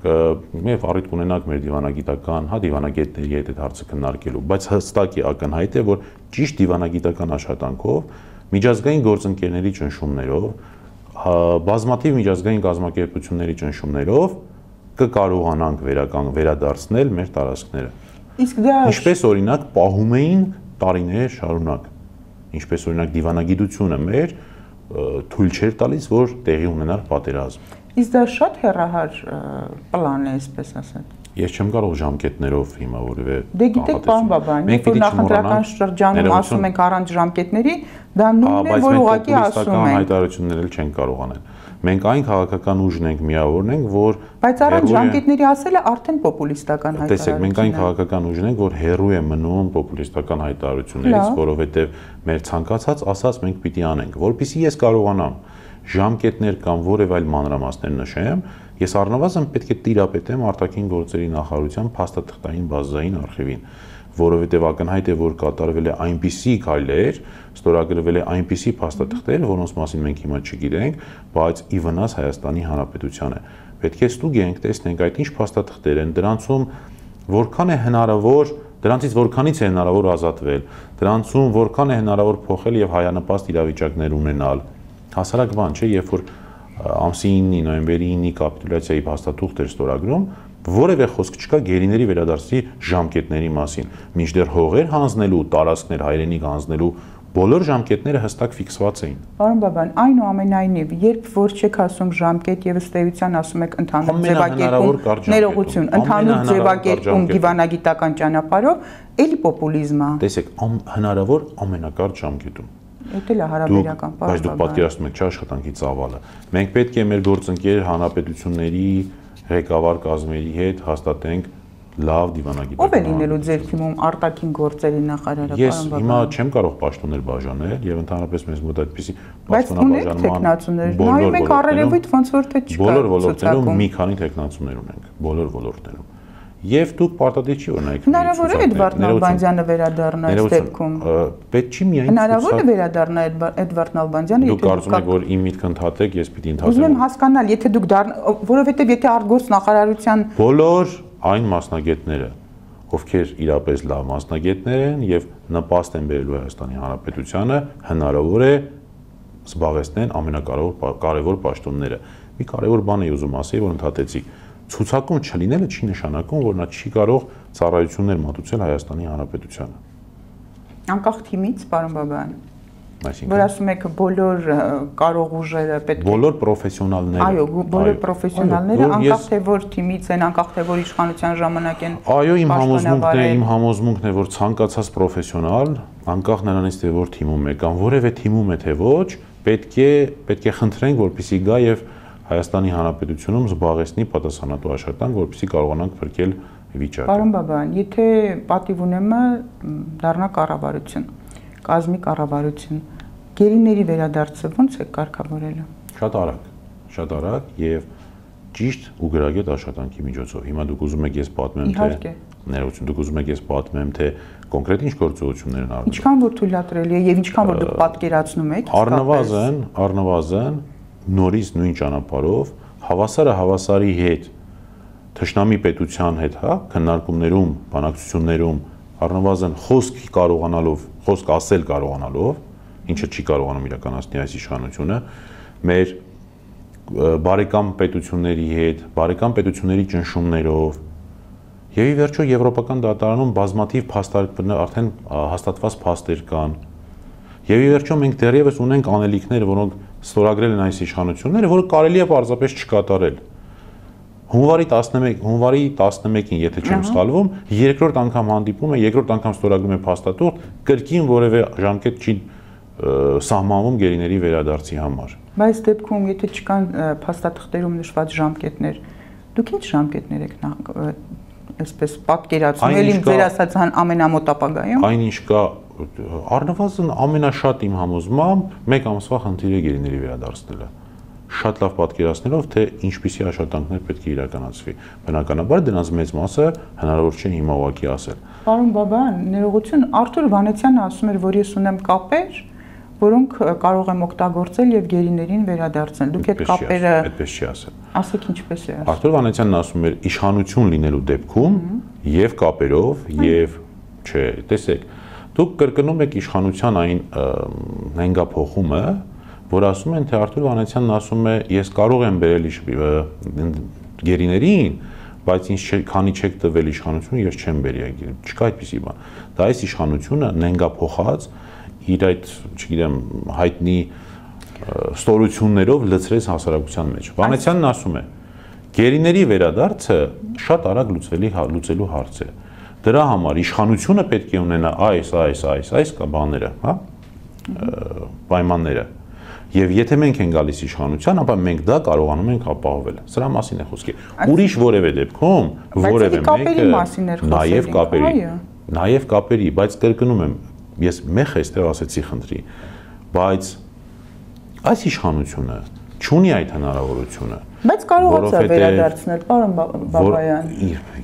Speaker 2: եւ առիթ կունենանք մեր դիվանագիտական, դիվանագետների հետ այդ հարցը քննարկելու, բայց հստակ է ակնհայտ է, որ ճիշտ դիվանագիտական աշխատանքով, միջազգային գործընկերների ճնշումներով, բազմաթիվ միջազգային կազմակերպությունների ճնշումներով կկարողանանք վերադարձնել մեր տարածքները։
Speaker 1: Իսկ դա
Speaker 2: ինչպես օրինակ պահում էին տարիներ շարունակ, ինչպես օրինակ դիվանագիտությունը մեր թույլ չէր տալիս, որ տեղի ունենար պատերազմ։
Speaker 1: Իսկ դա շատ հեռահար պլան է, այսպես ասած։
Speaker 2: Ես չեմ կարող ժամկետներով հիմա որևէ։
Speaker 1: Դե գիտեք, պարոն Բաբայան, երբ որ նախընտրական շրջանում ասում ենք առանց ժամկետների, դա նույնն է, որ ուղղակի ասում են։
Speaker 2: Հայտարարություններ էլ չեն կարող անել։ Մենք այն քաղաքական ուժն ենք, միավորն ենք, որ
Speaker 1: բայց առանց ժամկետների ասելը արդեն պոպուլիստական հայտարարություն է։
Speaker 2: Տեսեք, մենք այն քաղաքական ուժն ենք, որ հեռու է մնում պոպուլիստական հայտարարություններից, որովհետև մեր ցանկացած ասած մենք պիտի անենք, որpիսի ես կարողանամ ժամկետներ կամ որևէ այլ մանրամասներ նշեմ, ես առնվազն պետք է տիրապետեմ արտաքին գործերի նախարարության փաստաթղթային բազային արխիվին, որովհետև ակնհայտ է, որ կատարվել է այնպիսի քայլեր, ստորագրվել է այնպիսի փաստաթղթեր, որոնց մասին մենք հիմա չգիտենք, բայց ի վնաս Հայաստանի Հանրապետությանը։ Պետք է ստուգենք, տեսնենք այդ ինչ փաստաթղթեր են, դրանցում որքան է հնարավոր, դրանցից որքանից է հնարավոր ազատվել, դրանցում որքան է հնարավոր փոխել եւ հայանպաստ իրավիճակներ ունենալ։ Հասարակ բան չէ, երբ որ ամսի 9-ի, նոյեմբերի 9-ի կապիտուլյացիայի փաստաթուղթ էր ստորագրում, որևէ խոսք չկա գերիների վերադարձի ժամկետների մասին։ Մինչդեռ հողեր հանձնելու, տարածքներ հայրենիք հանձնելու բոլոր ժամկետները հստակ ֆիքսված էին։
Speaker 1: Պարոն Բաբայան, այնուամենայնիվ, երբ որ չեք ասում ժամկետ եւ ըստ էության ասում եք ընդհանուր ձևակերպում, ներողություն, ընդհանուր ձևակերպում դիվանագիտական ճանապարհով, էլի պոպուլիզմ է։
Speaker 2: Տեսեք, հնարավոր ամենակարճ ժամկետում։
Speaker 1: Դա էլ է հարաբերական, պարոն Բաբայան։
Speaker 2: Բայց դուք պատկերացնում եք աշխատանքի ծավալը։ Մենք պետք է մեր գործընկեր հանրապետությունների ղեկավար կազմերի հետ հաստատենք լավ դիվանագիտական։
Speaker 1: Ո՞վ է լինելու ձեր թիմում արտաքին գործերի նախարարը,
Speaker 2: Ես հիմա չեմ կարող պաշտոններ բաժանել եւ ընդհանրապես մեզ մոտ այդպիսի
Speaker 1: պաշտոնաբաժանման նայում եք առերևույթ ոնց որ թե չկա։
Speaker 2: Բոլոր ոլորտներում մի քանի տեխնացուներ ունենք, բոլոր ոլորտներում։ Եվ դուք պարտադիր չի օրինակ
Speaker 1: հնարավոր է Էդվարդ Նալբանդյանը վերադառնա այս դեպքում։
Speaker 2: Պետք չի միայն
Speaker 1: հնարավոր է վերադառնա Էդվարդ Նալբանդյանը,
Speaker 2: եթե դուք կարծում եք, որ իմ միտքը ընդհատեք, ես պիտի ընդհատեմ։
Speaker 1: Ուզում եմ հասկանալ, եթե դուք որովհետև եթե արտգործ նախարարության
Speaker 2: բոլոր այն մասնագետները, ովքեր իրապես լավ մասնագետներ են եւ նպաստ են բերելու Հայաստանի Հանրապետությանը, հնարավոր է զբաղեցնեն ամենակարևոր պաշտոնները։ Մի կարևոր բան եմ ուզում ասել, որ ընդհատեցի։ Ցուցակում չլինելը չի նշանակում, որ նա չի կարող ծառայություններ մատուցել Հայաստանի Հանրապետությանը։
Speaker 1: Անկախ թիմից, պարոն Բաբայան։
Speaker 2: Այսինքն,
Speaker 1: որ ասում եք բոլոր կարող ուժերը պետք է
Speaker 2: բոլոր պրոֆեսիոնալները։
Speaker 1: Այո, բոլոր պրոֆեսիոնալները, անկախ թե որ թիմից են, անկախ թե որ իշխանության ժամանակ են։
Speaker 2: Այո, իմ համոզմունքն է, որ ցանկացած պրոֆեսիոնալ, անկախ նրանից թե որ թիմում է կամ որևէ թիմում է թե ոչ, պետք է խնդրենք, որպեսզի գա եւ Հայաստանի Հանրապետությունում զբաղեցնի պատասխանատու աշխատանք, որպեսզի կարողանանք փրկել վիճակը։
Speaker 1: Պարոն Բաբայան, եթե պատիվ ունեմը դառնա կառավարություն, կազմի կառավարություն, գերիների վերադարձը ո՞նց է կարգավորելը։
Speaker 2: Շատ արագ եւ ճիշտ ու գրագետ աշխատանքի միջոցով։ Հիմա դուք ուզում եք ես պատմեմ թե ներողություն, դուք ուզում եք ես պատմեմ թե կոնկրետ ինչ գործողություններ են արվում։
Speaker 1: Ինչքան որ թույլատրելի է եւ ինչքան որ դուք պատկերացնում եք։
Speaker 2: Առնվազն նորից նույն ճանապարհով հավասարի հետ թշնամի պետության հետ, հա, քննարկումներում, բանակցություններում առնվազն խոսք ասել կարողանալով, ինչը չի կարողանում իրականացնել այս իշխանությունը, մեր բարեկամ պետությունների հետ, բարեկամ պետությունների ճնշումներով եւ ի վերջո եվրոպական դատարանում բազմաթիվ արդեն հաստատված փաստեր կան։ Եվ ի վերջո մենք դեռևս ունենք անելիքներ, որոնք ստորագրել են այս իշխանությունները, որը կարելի է պարզապես չկատարել։ Հունվարի 11-ին, եթե չեմ սխալվում, երկրորդ անգամ հանդիպում է, երկրորդ անգամ ստորագրում է փաստաթուղթ, կրկին որևէ ժամկետ չի սահմանվում գերիների վերադարձի համար։
Speaker 1: Բայց դեպքում, եթե չկան փաստաթղթերում նշված ժամկետներ, դուք ինչ ժամկետներ եք այսպես պատկերացնում, ելի ձեր ասած ամենամոտ ապագայում։
Speaker 2: Այնինչ կա առնվազն ամենաշատ իմ համոզմամբ 1 ամսվա խնդիր է գերիների վերադարձնելը։ Շատ լավ պատկերացնելով, թե ինչպիսի աշխատանքներ պետք է իրականացվի։ Բնականաբար դրանց մեծ մասը հնարավոր չէ հիմա ուղղակի ասել։
Speaker 1: Պարոն Բաբայան, ներողություն, Արթուր Վանեցյանը ասում էր, որ ես ունեմ կապեր, որոնք կարող եմ օգտագործել եւ գերիներին վերադարձնել։ Դուք այդ կապերը
Speaker 2: այդպես չի ասել։
Speaker 1: Ասեք ինչպես է ասում։
Speaker 2: Արթուր Վանեցյանն ասում էր իշխանություն լինելու դեպքում եւ կապերով եւ չէ, տեսեք, դուք կրկնում եք իշխանության այն նենգափոխումը, որ ասում են, թե Արթուր Վանեցյանն ասում է, ես կարող եմ բերել գերիներին, բայց ինձ քանի չեք տվել իշխանությունը, ես չեմ բերի, չկա այդպիսի բան։ Դա այս իշխանությունը նենգափոխած իր այդ, չգիտեմ, հայտնի ստորություններով լցրեց հասարակության մեջ։ Վանեցյանն ասում է, գերիների վերադարձը շատ արագ լուծելու հարց է։ Դրա համար իշխանությունը պետք է ունենա այս բաները, հա, պայմանները։ Եվ եթե մենք ենք գալիս իշխանության, ապա մենք դա կարողանում ենք ապահովել։ Սրա մասին է խոսքը։ Ուրիշ որևէ դեպքում որևէ մեկը նաև կապերի, բայց կրկնում եմ, ես մեխ այստեղ ասեցի խնդրի, բայց այս իշխանությունը չունի այդ հնարավորությունը։
Speaker 1: Բայց կարողացա վերադարձնել, պարոն Բաբայան։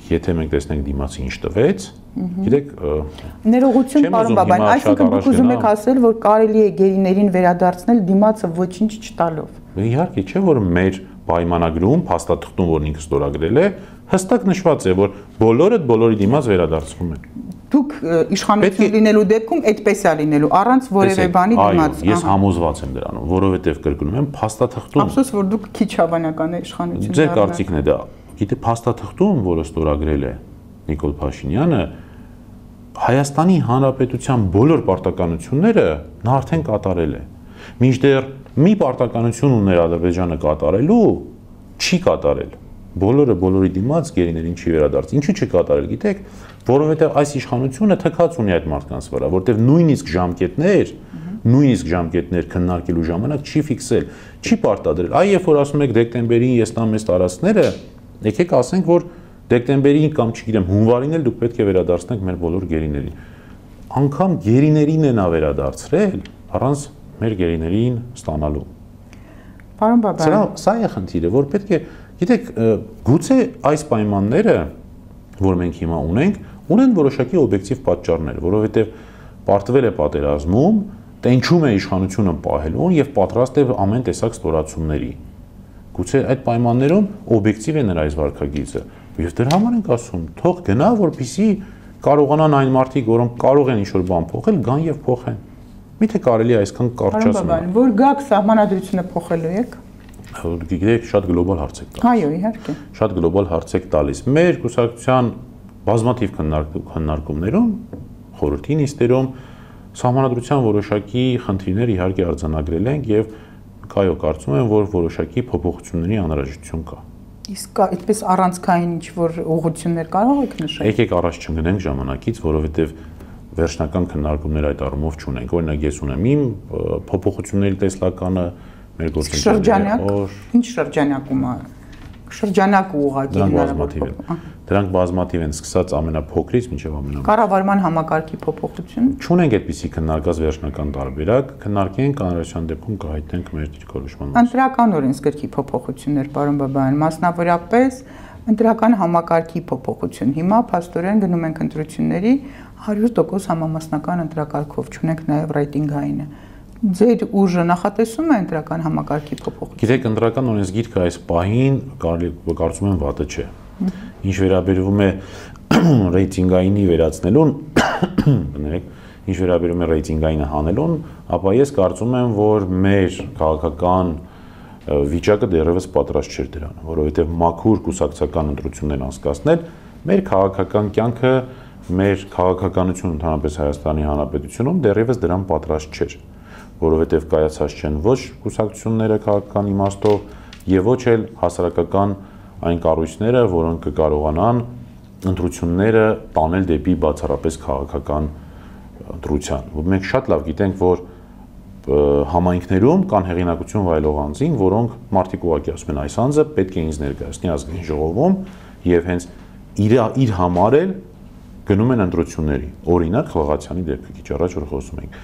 Speaker 2: Եթե մենք տեսնենք դիմացի ինչ տվեց, գիտեք,
Speaker 1: ներողություն, պարոն Բաբայան, այսինքն դուք ուզում եք ասել, որ կարելի է գերիներին վերադարձնել դիմացը ոչինչ չտալով։
Speaker 2: Իհարկե, չէ՞ որ մեր պայմանագրում, փաստաթղթում, որն ինքը ստորագրել է, հստակ նշված է, որ բոլորի դիմաց վերադարձվում են։
Speaker 1: Դուք իշխանություն լինելու դեպքում այդպես է լինելու, առանց որևէ բանի դիմաց։
Speaker 2: Ես համոզված եմ դրանով, որովհետև կրկնում եմ, փաստաթղթում։
Speaker 1: Ափսոս, որ դուք քիչ հավանական է իշխանություն։
Speaker 2: Ձեր կարծիքն է դա։ Գիտե, փաստաթղթում, որը ստորագրել է Նիկոլ Փաշինյանը, Հայաստանի Հանրապետության բոլոր պարտականությունները նա արդեն կատարել է։ Մինչդեռ մի պարտականություն ուներ Ադրբեջանը կատարելու, չի կատարել։ Բոլորի դիմաց գերիներին չի վերադարձ։ Ինչու՞ չի կատարել, գիտեք, որովհետև այս իշխանությունը թքած ունի այդ մարդկանց վրա, որտեղ նույնիսկ ժամկետներ քննարկելու ժամանակ չի ֆիքսել, չի պարտադրել։ Այ երբ որ ասում եք դեկտեմբերին ես տամ ես տարածքները, եկեք ասենք, որ դեկտեմբերին կամ չգիտեմ հունվարին էլ դուք պետք է վերադարձնեք մեր բոլոր գերիներին։ Անկամ գերիներին է նա վերադարձրել առանց մեր գերիներին ստանալու։
Speaker 1: Պարոն Բաբայան,
Speaker 2: սա է խնդիրը, որ պետք է, գիտեք, գուցե այս պայմանները, որ մենք հիմա ունեն որոշակի օբյեկտիվ պատճառներ, որովհետև պարտվել է պատերազմում, տենչում է իշխանությունը պահելուն եւ պատրաստ է ամեն տեսակ ստորացումների։ Գուցե այդ պայմաններում օբյեկտիվ է նրա այս վարքագիծը։ Եվ դրա համար ենք ասում, թող գնա, որպեսզի կարողանան այն մարդիկ, որոնք կարող են ինչ-որ բան փոխել, գան եւ փոխեն։ Միթե կարելի է այսքան կարճացնել։
Speaker 1: Որ գաք սահմանադրությունը փոխելու եք։
Speaker 2: Գիտեք, շատ գլոբալ հարց եք տալիս։
Speaker 1: Այո, իհարկե։
Speaker 2: Շատ գլոբալ հարց եք տալիս։ Մեր կուսակցության բազմաթիվ քննարկումներում, խորհրդի նիստերում սահմանադրության որոշակի խնդիրներ իհարկե արձանագրել ենք եւ կայո կարծում եմ, որ որոշակի փոփոխությունների անհրաժեշտություն կա։
Speaker 1: Իսկ այդպես առանցքային ինչ-որ ուղղություններ կարող եք նշել։
Speaker 2: Եկեք առաջ չընկնենք ժամանակից, որովհետեւ վերջնական քննարկումներ այդ առումով չունենք։ Օրինակ ես ունեմ իմ փոփոխությունների տեսլականը, մեր գործընկերները։
Speaker 1: Ինչ շրջանակում է Շրջանակ ուղղակի
Speaker 2: հնարավոր։ Դրանք բազմաթիվ են, սկսած ամենափոքրից մինչև ամենամեծ։
Speaker 1: Կառավարման համակարգի փոփոխություն։
Speaker 2: Չունենք այդպիսի քննարկած վերջնական տարբերակ, քննարկենք անհրաժեշտության դեպքում կհայտնենք մեր դիրքորոշման մասին։
Speaker 1: Ընտրական օրենսգրքի փոփոխություններ, պարոն Բաբայան, մասնավորապես ընտրական համակարգի փոփոխություն։ Հիմա փաստորեն գնում ենք ընտրությունների 100% համամասնական ընտրակարգով, չունենք նաև ռեյտինգայինը։ Ձեր ուժը նախատեսում է ընտրական համակարգի փոփոխություն։
Speaker 2: Գիտեք, ընտրական օրենսգիրքը այս պահին կարծում եմ վատը չէ։ Ինչ վերաբերվում է ռեյտինգայինի վերացնելուն, ինչ վերաբերում է ռեյտինգայինը հանելուն, ապա ես կարծում եմ, որ մեր քաղաքական վիճակը դեռևս պատրաստ չէր դրան, որովհետև մաքուր կուսակցական ընտրություններ անցկացնել մեր քաղաքական կյանքը, մեր քաղաքականությունը ընդհանրապես Հայաստանի Հանրապետությունում դեռևս դրան պատրաստ չէր, որովհետև կայացած չեն ոչ կուսակցությունները քաղաքական իմաստով եւ ոչ էլ հասարակական այն կառույցները, որոնք կկարողանան ընտրությունները տանել դեպի բացառապես քաղաքական ընտրության։ Մենք շատ լավ գիտենք, որ համայնքներում կան հեղինակություն վայելող անձինք, որոնք մարդիկ ուղղակի ասում են այս անձը պետք է ինձ ներկայացնի ազգային ժողովում եւ հենց իր համար էլ գնում են ընտրությունների։ Օրինակ Խլղացյանի դեպքը քիչ առաջ որ խոսում ենք։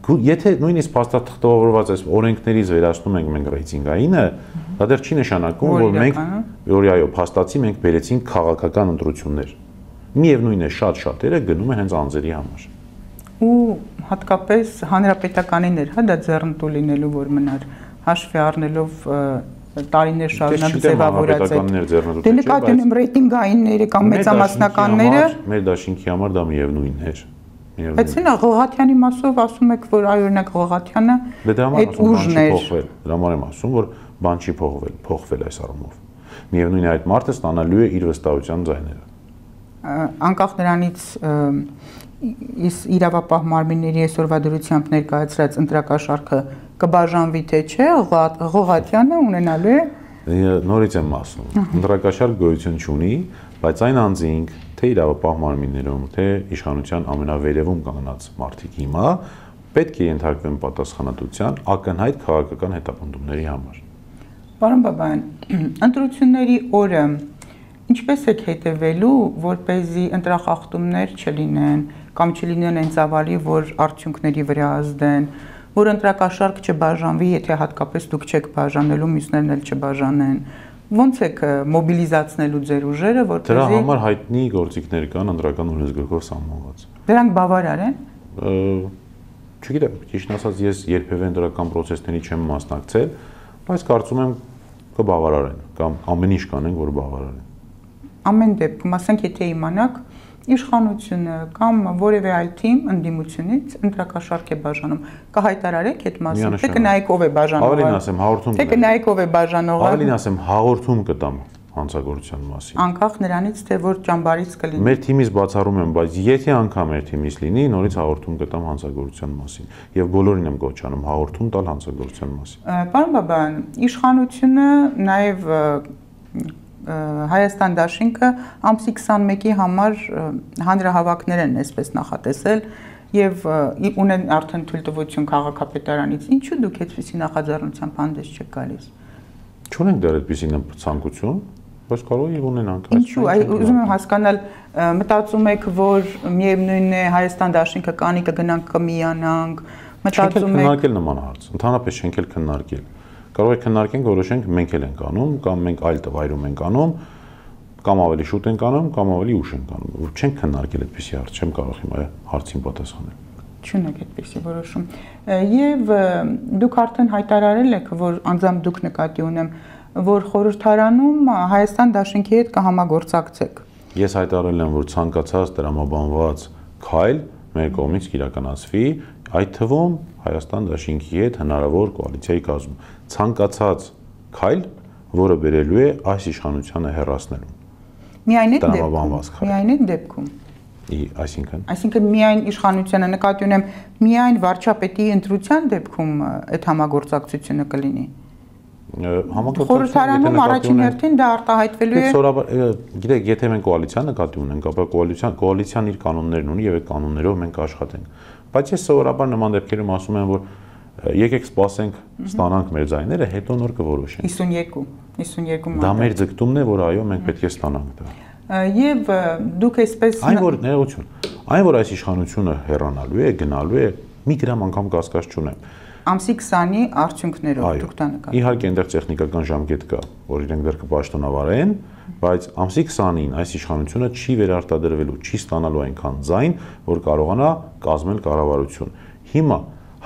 Speaker 2: Եթե նույնիսկ փաստաթղթավորված այս օրենքներից վերացնում ենք մենք ռեյտինգայինը, դա դեռ չի նշանակում, որ մենք այո, փաստացի մենք բերեցինք քաղաքական ընտրություններ։ Միևնույն է, շատ շատերը գնում են հենց անձերի համար։
Speaker 1: Ու հատկապես հանրապետականիներ, հա, դա ձեռնտու լինելու որ մնար, հաշվի առնելով տարիներ շարունակ ձևավորած է։ Դե նկատի ունեմ ռեյտինգայինները կամ մեծամասնականները։
Speaker 2: Մեր դաշինքի համար դա միևնույնն էր։
Speaker 1: Բայց ինա Ղլղաթյանի մասով ասում եք, որ այ օրինակ Ղլղաթյանը այդ ուժն էր։
Speaker 2: Դրա համար եմ ասում, որ բան չի փոխվել այս առումով։ Միևնույն է այդ մարդը ստանալու է իր վստահության ձայները։
Speaker 1: Անկախ նրանից իրավապահ մարմինների այսօրվա դրությամբ ներկայացրած ընտրակաշարքը կբաժանվի թե չէ, Ղլղաթյանը ունենալու է։
Speaker 2: Նորից եմ ասում, ընտրակաշարք գոյություն չունի, բայց այն անձինք, թե իրավապահ մարմիններում, թե իշխանության ամենավերևում կանգնած մարդիկ հիմա պետք է ենթարկվեն պատասխանատվության ակնհայտ քաղաքական հետապնդումների համար։
Speaker 1: Պարոն Բաբայան, ընտրությունների օրը ինչպես եք հետևելու, որպեսզի ընտրախախտումներ չլինեն կամ չլինեն այն ծավալի, որ արդյունքների վրա ազդեն, որ ընտրակաշարք չբաժանվի, եթե հատկապես դուք չեք բաժանելու, մյուսներն էլ չբաժանեն։ Ոնց եք մոբիլիզացնելու ձեր ուժերը, որպեսզի
Speaker 2: Դրա համար հայտնի գործիքներ կան ընտրական օրենսգրքով սահմանված։
Speaker 1: Դրանք բավարար են։
Speaker 2: Չգիտեմ, ճիշտ ասած ես երբևէ ընտրական process-ների չեմ մասնակցել, բայց կարծում եմ կբավարարեն կամ ամեն ինչ կանենք, որ բավարարեն։
Speaker 1: Ամեն դեպքում, ասենք, եթե իմանաք իշխանությունը կամ որևէ այլ թիմ ընդդիմությունից ընտրակաշարք է բաժանում, կհայտարարեք այդ մասին, թե կնայեք ով է բաժանողը։
Speaker 2: Ավելին ասեմ, հաղորդում
Speaker 1: Թե կնայեք ով է բաժանողը։
Speaker 2: Ավելին ասեմ, հաղորդում կտամ հանցագործության մասին։
Speaker 1: Անկախ նրանից, թե որ ճամբարից կլինի։
Speaker 2: Մեր թիմից բացառում եմ, բայց եթե անգամ մեր թիմից լինի, նորից հաղորդում կտամ հանցագործության մասին եւ բոլորին եմ կոչանում հաղորդում տալ հանցագործության մասին։
Speaker 1: Պարոն Բաբայան, իշխանությունը նաեւ Հայաստան դաշինքը ամսի 21-ի համար հանրահավաքներ են այսպես նախատեսել եւ ունեն արդեն թույլտվություն քաղաքապետարանից։ Ինչու դուք այդպիսի նախաձեռնությամբ հանդես չեք գալիս։
Speaker 2: Չունենք դեռ այդպիսի ցանկություն, բայց կարող է ունենանք։
Speaker 1: Ինչու, ուզում եմ հասկանալ, մտածում եք, որ միևնույնն է Հայաստան դաշինքը կանի կգնանք կմիանանք, մտածում եք
Speaker 2: քննարկել նման հարց, ընդհանրապես չենք էլ քննարկել։ Կարող է քննարկենք, որոշենք մենք էլ ենք անում, կամ մենք այլ տվայրում ենք անում, կամ ավելի շուտ ենք անում, կամ ավելի ուշ ենք անում։ Չենք քննարկել այդպիսի հարց, չեմ կարող հիմա հարցին պատասխանել։
Speaker 1: Չունեք այդպիսի որոշում։ Եվ դուք արդեն հայտարարել եք, որ անձամբ դուք նկատի ունեմ, որ խորհրդարանում Հայաստան դաշինքի հետ կհամագործակցեք։
Speaker 2: Ես հայտարարել եմ, որ ցանկացած տրամաբանված քայլ մեր կողմից կիրականացվի, այդ թվում Հայաստան դաշինքի հետ հնարավոր կոալիցիայի կազմում։ Ցանկացած քայլ, որը բերելու է այս իշխանությանը հեռացնելու։
Speaker 1: Միայն այդ դեպքում։ Այսինքն միայն իշխանությանը նկատի ունեմ, միայն վարչապետի ընտրության դեպքում այդ համագործակցությունը կլինի։ Խորհրդարանում առաջին հերթին դա արտահայտվելու է։
Speaker 2: Գիտեք, եթե մենք կոալիցիան նկատի ունենք, ապա կոալիցիան իր կանոններն ունի եւ այդ կանոններով մենք աշխատենք։ Բայց ես սովորաբար նման դեպքերում ասում եմ, որ Եկեք սպասենք, ստանանք մեր ձայները, հետո նոր կորոշենք։
Speaker 1: 52
Speaker 2: Դա մեր ձգտումն է, որ այո, մենք պետք է ստանանք դա։
Speaker 1: Եվ դուք այսպես
Speaker 2: Այն որ ներողություն, այն որ այս իշխանությունը հեռանալու է, գնալու է, մի գրամ անգամ կասկած չունեմ։
Speaker 1: Ամսի 20-ի արդյունքներով դուք դա նկատում։
Speaker 2: Իհարկե այնտեղ տեխնիկական ժամկետ կա, որ իրենք դեռ կպաշտոնավարեն, բայց ամսի 20-ին այս իշխանությունը չի վերարտադրվելու, չի ստանալու այնքան ձայն, որ կարողանա կազմել կառավարություն։ Հիմա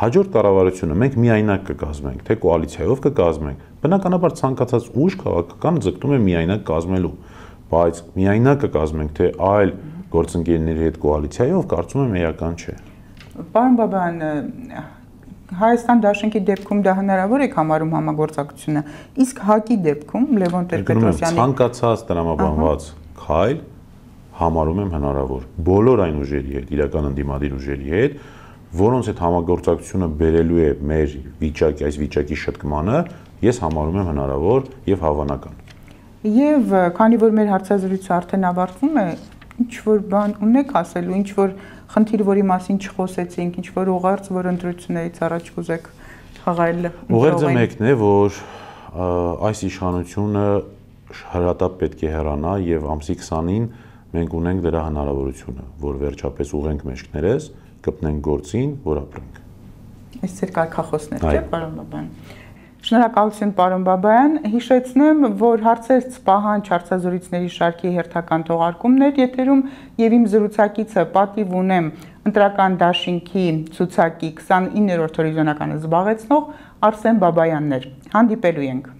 Speaker 2: հաջորդ կառավարությունը մենք միայնակ կկազմենք, թե կոալիցիայով կկազմենք, բնականաբար ցանկացած ուժ քաղաքական ձգտում է միայնակ կազմելու, բայց միայնակ կկազմենք, թե այլ գործընկերների հետ կոալիցիայով, կարծում եմ էական չէ։
Speaker 1: Պարոն Բաբայան, Հայաստան դաշնքի դեպքում դա հնարավոր է համարում համագործակցությունը, իսկ ՀԱԿ-ի դեպքում Լևոն Տեր-Պետրոսյանի
Speaker 2: ցանկացած տրամաբանված քայլ համարում եմ հնարավոր բոլոր այն ուժերի հետ, իրական ընդդիմադիր ուժերի հետ, որոնց հետ համագործակցությունը բերելու է մեր վիճակի, այս վիճակի շտկմանը, ես համարում եմ հնարավոր եւ հավանական։
Speaker 1: Եվ քանի որ մեր հարցազրույցը արդեն ավարտվում է, ինչ որ բան ունեք ասելու, ինչ որ խնդիր, որի մասին չխոսեցինք, ինչ որ ուղերձ, որ ընտրություններից առաջ կուզեք խաղալ։
Speaker 2: Ուղերձը մեկն է, որ այս իշխանությունը հրատապ պետք է հեռանա եւ ամսի 20-ին մենք ունենք դրա հնարավորությունը, որ վերջապես ուղենք մեջքներս, կպնենք գործին, որ ապրենք։
Speaker 1: Այս ծեր կարգախոսներ, չէ՞, պարոն Բաբայան։ Շնորհակալություն, պարոն Բաբայան, հիշեցնեմ, որ հարցերց պահանջ հարցազրույցների շարքի հերթական թողարկումներ եթերում եւ իմ զրուցակիցը պատիվ ունեմ ընտրական դաշինքի ցուցակի 29-րդ հորիզոնականը զբաղեցնող Արսեն Բաբայանն էր։ Հանդիպելու ենք։